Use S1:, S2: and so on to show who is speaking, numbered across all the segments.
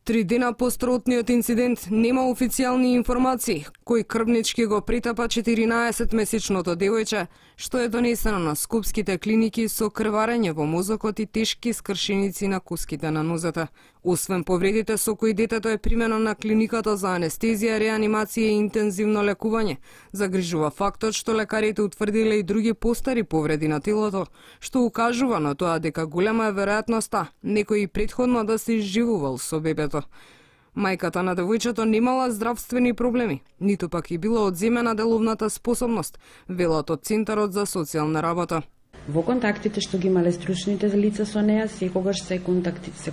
S1: 3 дена по страотниот инцидент нема официјални информации кој крвнички го притапа 14-месечното девојче, што е донесено на скопските клиники со крварење во мозокот и тешки скршеници на куските на нозете. Освен повредите со кои детето е примено на клиниката за анестезија, реанимација и интензивно лекување, загрижува фактот што лекарите утврдиле и други постари повреди на телото, што укажува на тоа дека голема е веројатноста некој и претходно да се изживувал со бебето. Мајката на девојчето немала здравствени проблеми, ниту пак и била одземена деловната способност, велат од Центарот за социјална работа.
S2: Во контактите што ги имале стручните лица со неа, секогаш се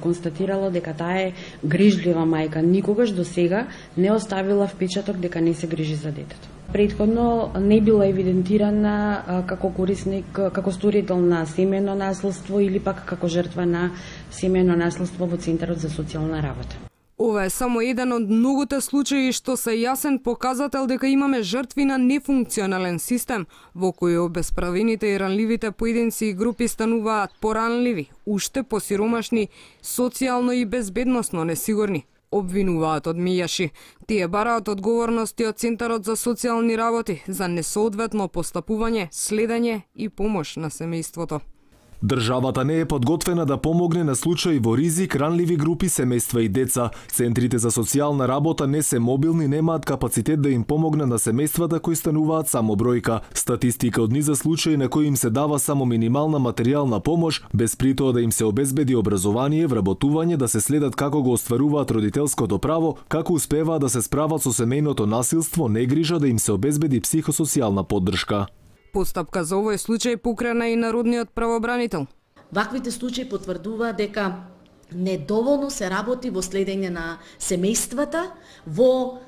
S2: констатирало дека таа е грижлива мајка, никогаш до сега не оставила впечаток дека не се грижи за детето. Претходно не била евидентирана како корисник, како сторител на семејно наследство или пак како жртва на семејно наследство во Центарот за социјална работа.
S1: Ова е само еден од многуте случаи што се јасен показател дека имаме жртви на нефункционален систем, во кој обесправените и ранливите поединци и групи стануваат поранливи, уште посиромашни, социјално и безбедносно несигурни. Обвинуваат од мејаши. Тие бараат одговорности од Центарот за социјални работи за несоодветно постапување, следење и помош на семејството.
S3: Државата не е подготвена да помогне на случаи во ризик, ранливи групи, семејства и деца. Центрите за социјална работа не се мобилни, немаат капацитет да им помогне на семејствата кои стануваат само бројка. Статистика од низа случаи на кои им се дава само минимална материјална помош, без притоа да им се обезбеди образование, вработување, да се следат како го остваруваат родителското право, како успеваат да се справат со семејното насилство, негрижа да им се обезбеди психосоцијална поддршка.
S1: Постапка за овој случај покрена и народниот правобранител.
S4: Ваквите случаи потврдува дека недоволно се работи во следење на семејствата, во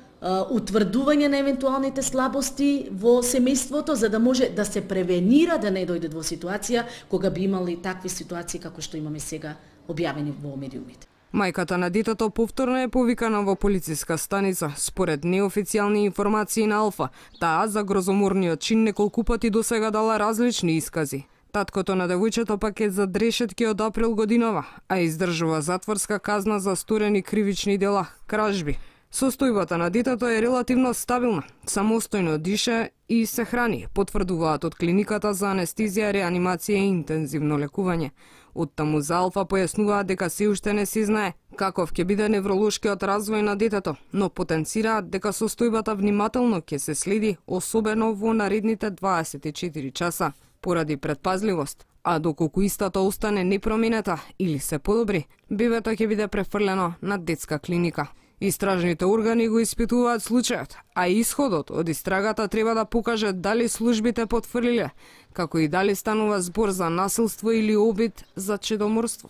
S4: утврдување на евентуалните слабости во семејството, за да може да се превенира да не дојде во ситуација кога би имали такви ситуации како што имаме сега објавени во медиумите.
S1: Мајката на детето повторно е повикана во полициска станица. Според неофицијални информации на Алфа, таа за грозоморниот чин неколку пати досега дала различни искази. Таткото на девојчето пак е за решетки од април годинава, а издржува затворска казна за сторени кривични дела, кражби. Состојбата на детето е релативно стабилна, самостојно диша и се храни, потврдуваат од клиниката за анестезија, реанимација и интензивно лекување. Оттаму за Алфа појаснуваат дека се уште не се знае каков ќе биде невролошкиот развој на детето, но потенцираат дека состојбата внимателно ќе се следи, особено во наредните 24 часа, поради предпазливост. А доколку истата остане непроменета или се подобри, бебето ќе биде префрлено на детска клиника. Истражните органи го испитуваат случајот, а исходот од истрагата треба да покаже дали службите потврлиле, како и дали станува збор за насилство или обид за чедоморство.